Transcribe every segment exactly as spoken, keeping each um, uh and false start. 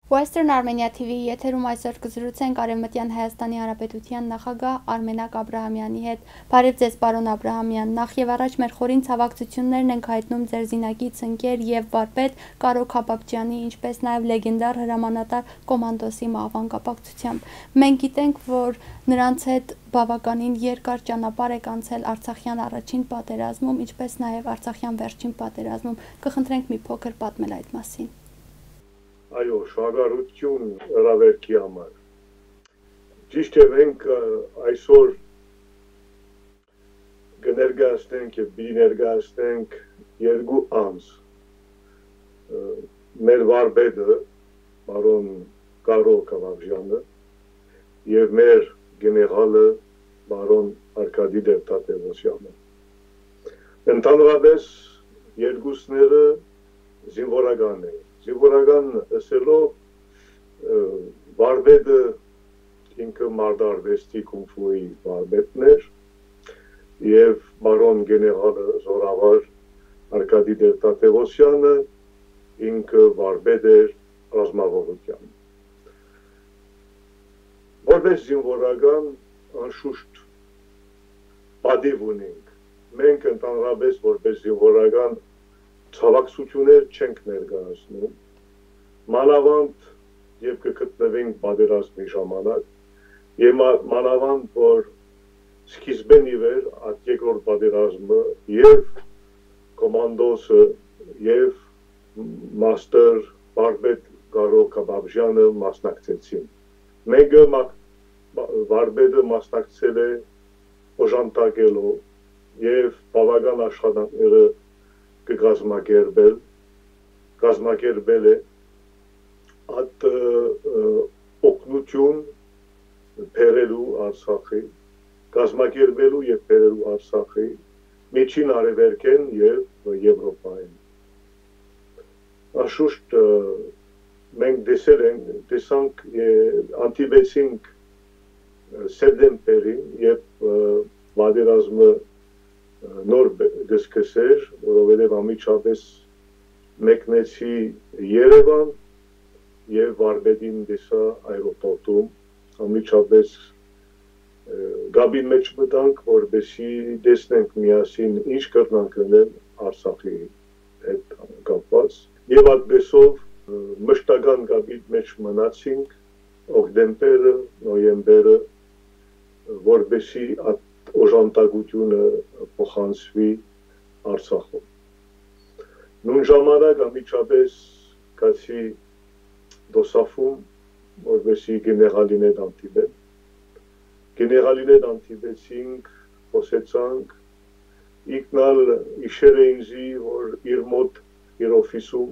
Western Armenia T V-ի եթերում այսօր կը զրուցենք Արեւմտեան Հայաստանի Հանրապետութեան նախագահ Արմենակ Աբրահամեանի հետ։ Բարեւ ձեզ, պարոն Աբրահամեան։ Նախ եւ առաջ մեր խորին ցաւակցութիւններն ենք հայտնում ձեր զինակից ընկեր եւ վարպետ Կարո Քաբաբճեանի, ինչպէս նաեւ լեգենդար հրամանատար Կոմանդոսի մահուան կապակցությամբ։ Մենք գիտենք, որ նրանց հետ բաւականին երկար ճանապարհ եք անցել Արցախեան առաջին պատերազմում, ինչպէս նաեւ Արցախեան վերջին պատերազմում։ Կը խնդրենք մի փոքր պատմել այդ մասին։ Այո, շնորհակալութիւն հրավերքի համար։ Ճիշդ է, մենք ը, այսօր կը ներկայացնենք եւ պիտի ներկայացնենք երկու անձ, ը, մեր վարպետը, պարոն Կարո Քաբաբճեանը, եւ մեր գեներալը, պարոն Արկադի Տեր-Թադեւոսյանը։ Ընդհանրապէս երկուսները զինուորական են։ Զինուորական ըսելով, ը, վարպետը ինքը մարտարուեստի, կունֆուի վարպետն էր, եւ պարոն գեներալը, զորավար Արկադի Տեր-Թադեւոսյանը, ինքը վարպետ էր ռազմավարութեան։ Որպես զինուորական, անշուշտ, պատիւ ունենք։ Մենք ընդհանրապէս որպես զինուորական ցաւակցութիւններ չենք ներկայացնում, մանաւանդ երբ կը գտնուենք պատերազմի ժամանակ, եւ մա-, մանաւանդ որ սկիզբէն ի վեր այդ երկրորդ պատերազմը եւ կոմանդոսը եւ մաստեր վարպետ Կարո Քաբաբճեանը մասնակցեցին։ Մեկը մա-, վարպետը մասնակցել է օժանդակելով եւ բաւական աշխատանքները կը կազմակերպել, կազմակերպել է այդ, ը, ը, օգնութիւն բերելու Արցախի, կազմակերպելու եւ բերելու Արցախի, Միջին Արեւելքէն եւ Եվրոպայէն։ Անշուշտ, ը, մենք տեսել ենք, տեսանք, ը, հանդիպեցինք, ը, սեպտեմբերին, երբ, ը, պատերազմը, ը, նոր բ-, կը սկսէր, որովհետեւ անմիջապէս մեկնեցի Երեւան եւ վարպետին տեսայ այրոպորտում, անմիջապէս, ը, կապին մէջ մտանք, որպեսզի տեսնենք միասին ինչ կրնանք ընել Արցախի հետ կապուած։ Եւ այդպէսով, ը, մշտական կապի մէջ մնացինք օկտեմբերը, նոյեմբերը, որպեսզի այդ օժանդակութիւնը փոխանցուի Արցախում։ Նոյն ժամանակ անմիջապէս գացի Դոսաֆում, որպեսզի գեներալին հետ հանդիպեմ։ Գեներալին հետ հանդիպեցինք, խօսեցանք, ինքն ալ յիշեր է ինձի, որ իր մօտ, իր օֆիսում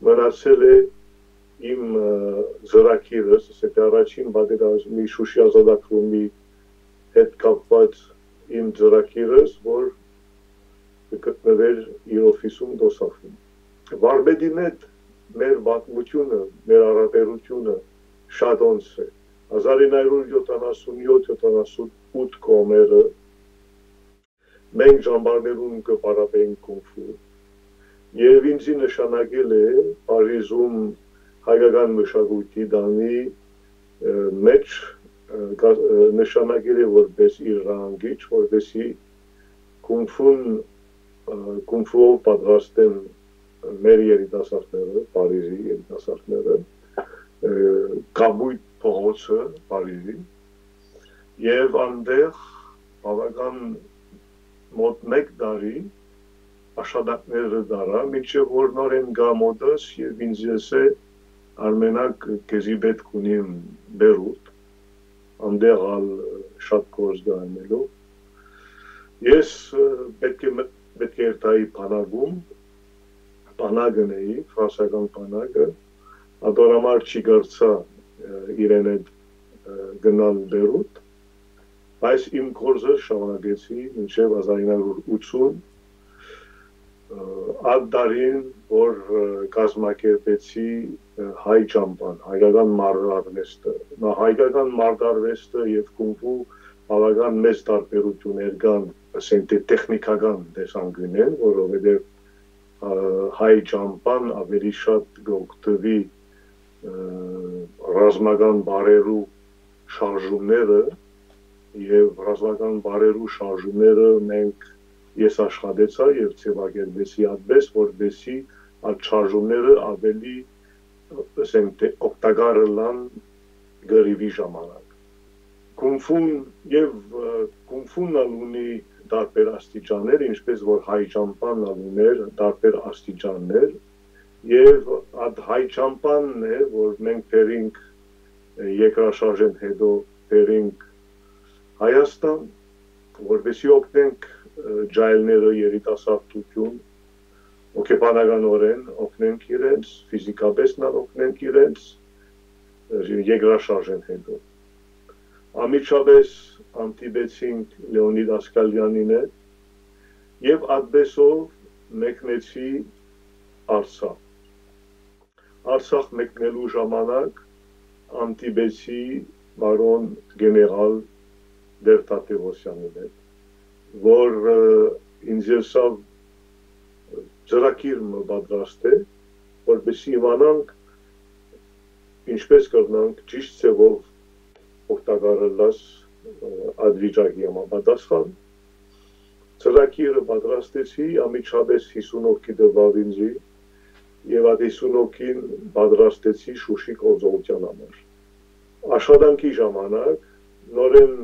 մնացել է իմ, ը, ծրագիրս, ասենք, առաջին պատերազմի Շուշի ազատագրումի հետ կապուած իմ ծրագիրս, որ կը գտնուէր իր օֆիսում Դոսաֆում։ Վարպետին հետ մեր պատմութիւնը, մեր յարաբերութիւնը շատ անց է։ Հազար ինը հարիւր յոթանասուն յոթ յոթանասուն ութ կողմերը մենք ճամբարներուն կը պարապէինք կունֆու։ Եւ ինձի նշանակել է Փարիզում հայկական մշակոյթի տանի, ը, մէջ, ը, կա-, ը, նշանակել է որպես իր նահանգիչ, որպեսզի կունֆուն, ը, կունֆուով պատրաստեն մեր երիտասարդները, Փարիզի երիտասարդները, ը, կապոյտ փողոցը Փարիզի, եւ անտեղ բաւական մօտ մէկ տարի աշխատանքները տարայ, մինչեւ որ նորէն գայ մօտս եւ ինձ ըսէ, Արմենակ, քեզի պէտք ունիմ Բերութ, անտեղ ալ շատ գործ կայ անելու։ Ես, ը, պէտք է մտ-, պէտք է երթայի բանակում, բանակ ընէի, ֆրանսական բանակը, ատոր համար չի կարծայ, ը, իրեն հետ, ը, գնալ Բերութ, բայց իմ գործը շարունակեցի մինչեւ հազար ինը հարիւր ութսուն, ը, այդ տարին, որ, ը, կազմակերպեցի, ը, հայ ճամբան, հայկական մարտարուեստը։ Նա հայկական մարտարուեստը եւ կունֆու բաւական մեծ տարբերութիւններ կան, ասենք թէ տեխնիկական տեսանկիւնէն, որովհետեւ, ը, հայ ճամբան աւելի շատ կ'օգտուի, ը, ռազմական բարերու շարժումները, եւ ռազմական բարերու շարժումները մենք, ես աշխատեցայ եւ ձեւակերպեցի այդպես, որպեսզի այդ շարժումները ավելի, ասենք թէ, օգտակար ըլլան կռիւի ժամանակ։ Կունֆուն եւ, ը, կունֆուն ալ ունի տարբեր աստիճաններ, ինչպես որ հայ ճամբան ալ ուներ տարբեր աստիճաններ, եւ այդ հայ ճամբանն է, որ մենք բերինք, ը, երկրաշարժէն հետո բերինք Հայաստան, որպեսզի օգնենք, ը, ջահելները, երիտասարդութիւն, հոգեբանականօրէն օգնենք իրենց, ֆիզիկապէս ալ օգնենք իրենց, ը, երկրաշարժէն հետո։ Անմիջապէս հանդիպեցինք Լեոնիդ Ասկալյանին հետ եւ այդպեսով մեկնեցի Արցախ։ Արցախ մեկնելու ժամանակ հանդիպեցի պարոն գեներալ Տեր Թադեւոսյանին հետ, որ, ը, ինձ ըսաւ, ծրագիր մը պատրաստէ, որպեսզի իմանանք ինչպես կրնանք ճիշտ ձեւով օգտակար ըլլաս, ը, այդ վիճակի համապատասխան։ Ծրագիրը պատրաստեցի, անմիջապէս յիսուն հոգի տուաւ ինձի, եւ այդ յիսուն հոգին պատրաստեցի Շուշի գործողութեան համար։ Աշխատանքի ժամանակ նորէն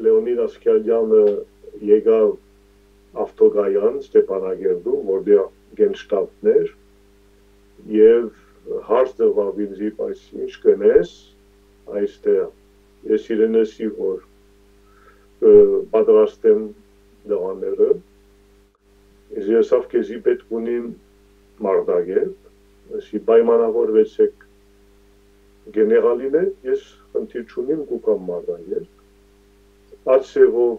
Լեոնիդ Ասկալյանը եկաւ ավտոկայան Ստեփանակերտում, որտեղ գենշտաբն էր, եւ հարց տուաւ ինձի, բայց ինչ կ'ընես այստեղ։ Ես իրեն ըսի, որ, ը, պատրաստ եմ տղաները, ես ըսաւ, քեզի պէտք ունիմ Մարտակերտ, ըսի, պայմանավորուեցէք գեներալին հետ, ես խնդիր չունիմ, կու գամ Մարտակերտ։ Այդ ձեւով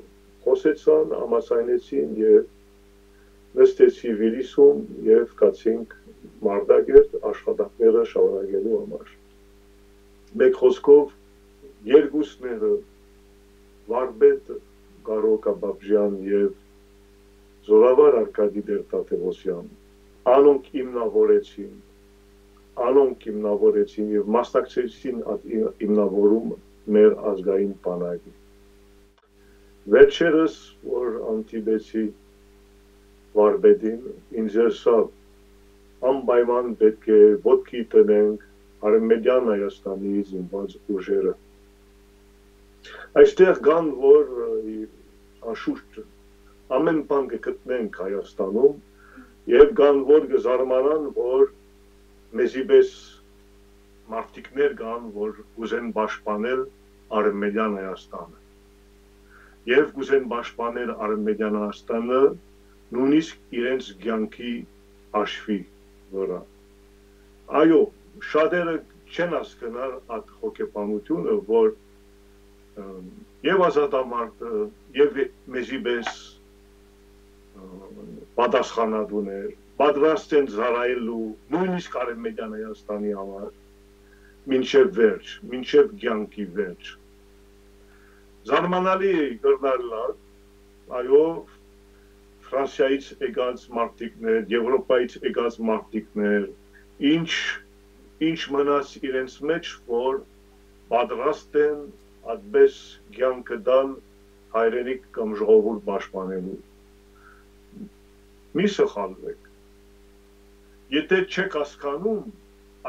խօսեցան, համաձայնեցին եւ նստեցի Վիլիսում եւ գացինք Մարտակերտ աշխատանքները շարունակելու համար։ Մէկ խօսքով, երկուսները, վարպետ Կարո Կապապճեան եւ զօրավար Արկադի Տեր Թադեւոսյան, անոնք հիմնավորեցին, անոնք հիմնավորեցին եւ մասնակցեցին այդ հիմ-, հիմնավորում մեր ազգային բանակի։ Վերջերս, որ հանդիպեցի վարպետին, ինձ ըսաւ, անպայման պէտք է ոտքի դնենք Արեւմտեան Հայաստանի զինուած ուժերը։ Այստեղ կան, որ, ը, անշուշտ ամեն բան կը գտնենք Հայաստանում, եւ կան, որ կը զարմանան, որ մեզի պէս մարդիկներ կան, որ կ'ուզեն պաշտպանել Արեւմտեան Հայաստանը։ Եւ կ'ուզեն պաշտպանել Արեւմտեան Հայաստանը նոյնիսկ իրենց կեանքի հաշուի վրայ։ Այո, շատերը չեն հասկնար այդ հոգեբանությունը, որ, ըմ, եւ ազատամարտը, եւ մեզի պէս, ը, պատասխանատուներ, պատրաստ են ծառայելու նոյնիսկ Արեւմտեան Հայաստանի համար, մինչեւ վերջ, մինչեւ կեանքի վերջ։ Զարմանալի է կրնար ըլլալ, այո, Ֆրանսիայից եկած մարդիկներ, Եվրոպայից եկած մարդիկներ, ինչ, ինչ մնաց իրենց մեջ, որ պատրաստ են այդպես կեանքը տալ հայրենիք կամ ժողովուրդ պաշտպանելու։ Մի սխալվեք։ Եթե չեք հասկանում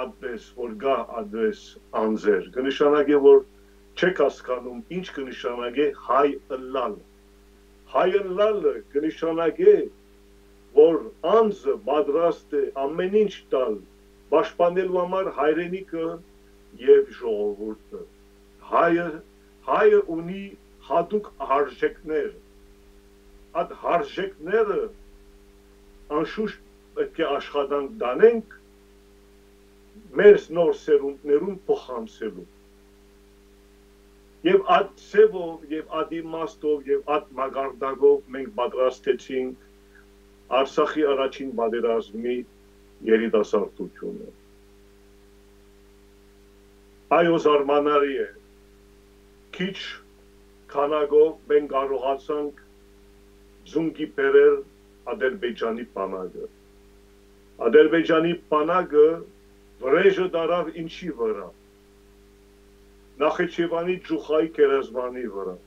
այդպես, որ կա այդպես անձեր, կը նշանակէ, որ չեք հասկանում ինչ կը նշանակէ հայ ըլլալ։ Հայ ըլլալը կը նշանակէ, որ անձը պատրաստ է ամեն ինչ տալ, պաշտպանելու համար հայրենիքը եւ ժողովուրդը։ Հայը, հայը ունի հատուկ արժեքներ։ Այդ արժեքները անշուշտ պէտք է աշխատանք տանենք մեր նոր սերունդներուն փոխանցելու։ Եւ այդ ձևով, եւ այդ իմաստով, եւ այդ մակարդակով մենք պատրաստեցինք Արցախի առաջին պատերազմի երիտասարդությունը։ Այո, զարմանալի է, քիչ քանակով մենք կարողացանք ծունկի բերել Ադրբեջանի բանակը։ Ադրբեջանի բանակը վրեժը դարաւ ինչի վրայ։ Նախիջեւանի Ճուխայի գերեզմանի վրայ։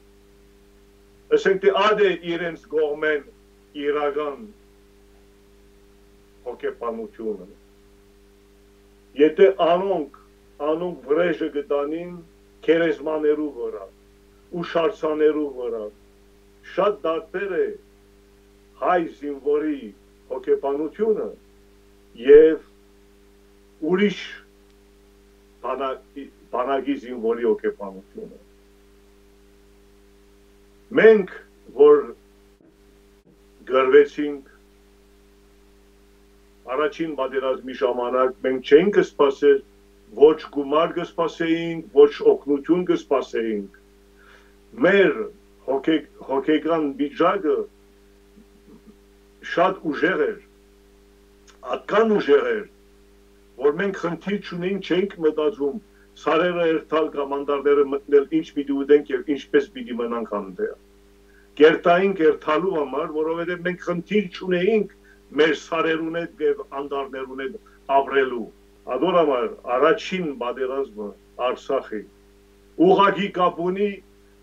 Ասենք թէ ա՞դ է իրենց կողմէն իրական հոգեբանութիւնը։ Եթէ անոնք, անոնք վրեժը կը տանին գերեզմաներու վրայ, ուշարձաններու վրայ, շատ տարբեր է հայ զինուորի հոգեբանութիւնը եւ ուրիշ բանա-, բանակի զինուորի հոգեբանութիւնը։ Մենք, որ կռուեցինք առաջին պատերազմի ժամանակ, մենք չէինք սպասեր, ոչ գումար կը սպասեինք, ոչ օգնութիւն կը սպասեինք։ Մեր հոգե-, հոգեկան վիճակը շատ ուժեղ էր, ատկան ուժեղ էր, որ մենք խնդիր չունենք, չէինք մտածում սարերը երթալ կամ անտառները մտնել, ինչ պիտի ուտենք եւ ինչպես պիտի մնանք անտեղ։ Կերտայինք երթալու համար, որովհետեւ մենք խնդիր չունեինք մեր սարերուն հետ եւ անտառներուն հետ ապրելու։ Ադոր համար առաջին պատերազմը Արցախի ուղղակի կապ ունի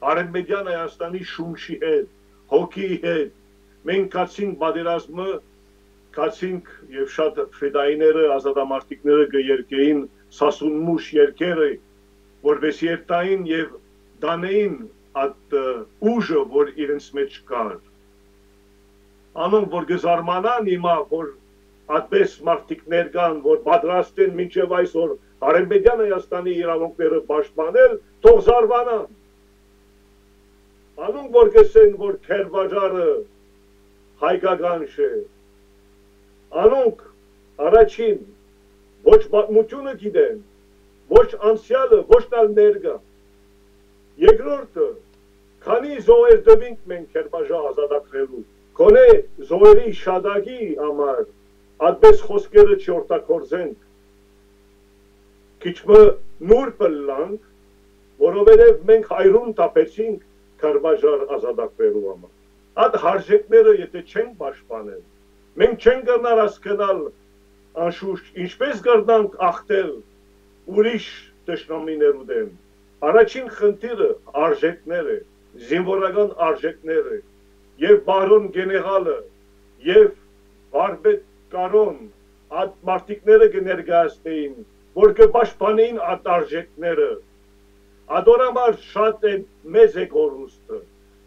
Արեւմտյան Հայաստանի շունչի հետ, հոգիի հետ։ Մենք գացինք պատերազմը, գացինք եւ շատ ֆեդայիները, ազատամարտիկները կը երգէին սասունմուշ երգերը, որպեսզի երթային եւ տանէին այդ, ը, ուժը, որ իրենց մեջ կար։ Անոնք որ կը զարմանան հիմա, որ այդպես մարդիկներ կան, որ պատրաստ են մինչեւ այսօր Արեւմտյան Հայաստանի իրավունքները պաշտպանել, թող զարմանան։ Անոնք որ կ'ըսեն, որ քերբաճարը հայկական չէ, անոնք առաջին ոչ պատմութիւնը գիտեն, ոչ անցեալը, ոչ ալ ներկայ։ Երկրորդը, քանի զոհեր տուինք մենք Քերբաճա ազատագրելու, գոնե զոհերի շատակի համար այդպես խօսքերը չօգտագործենք, քիչ մը նուրբ ըլլանք, որովհետեւ մենք հայրուն թափեցինք Քերբաճար ազատագրելու համար։ Այդ հարժեքները եթէ չենք պաշտպանել, մենք չենք կրնար հասկնալ անշուշտ ինչպես կրնանք ախտել ուրիշ թշնամիներու դէմ։ Առաջին խնդիրը արժեքներ է, զինուորական արժեքներ է, եւ պարոն գեներալը, եւ վարպետ Կարոն այդ մարդիկները կը ներկայացնեին, որ կը պաշտպանեին այդ արժեքները։ Ադոր համար շատ է մեծ է կորուստը,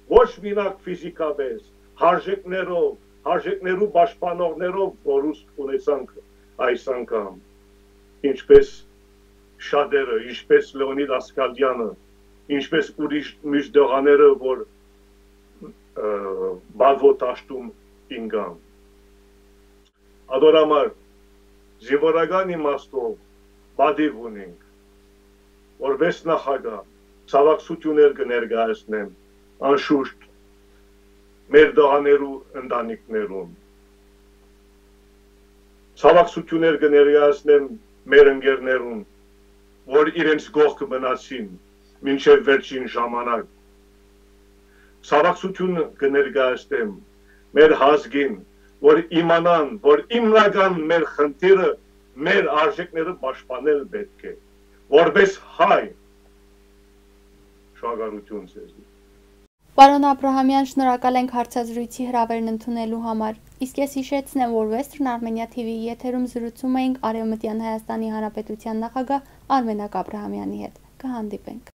ոչ մինակ ֆիզիկապես, արժեքներով, արժեքներու պաշտպանողներով կորուստ ունեցանք այս անգամ, ինչպես շատերը, ինչպես Լեոնիդ Ասկալյանը, ինչպես ուրիշ միշտ տղաները, որ, ը, Բալվո դաշտում ինկան։ Ադոր համար զինուորական իմաստով պատիւ ունենք, որպես նախագահ, ցավակցութիւններ կը ներկայացնեմ, անշուշտ, մեր տղաներու ընտանիքներուն։ Ցավակցութիւններ կը ներկայացնեմ մեր ընկերներուն, որ իրենց կողքը մնացին մինչեւ վերջին ժամանակ։ Ցավակցութիւն կը ներկայացնեմ մեր ազգին, որ իմանան, որ հիմնական մեր խնդիրը մեր արժեքները պաշտպանել պէտք է, որպես հայ։ Շնորհակալութիւն ձեզի։ Պարոն Աբրահամեան, շնորհակալ ենք հարցազրույցի հրաւերն ընդունելու համար։ Իսկ ես յիշեցնեմ, որ Western Armenia T V-ի եթերում զրուցում էինք Արեւմտյան Հայաստանի Հանրապետության նախագահ Արմենակ Աբրահամեանի հետ։ Կհանդիպենք։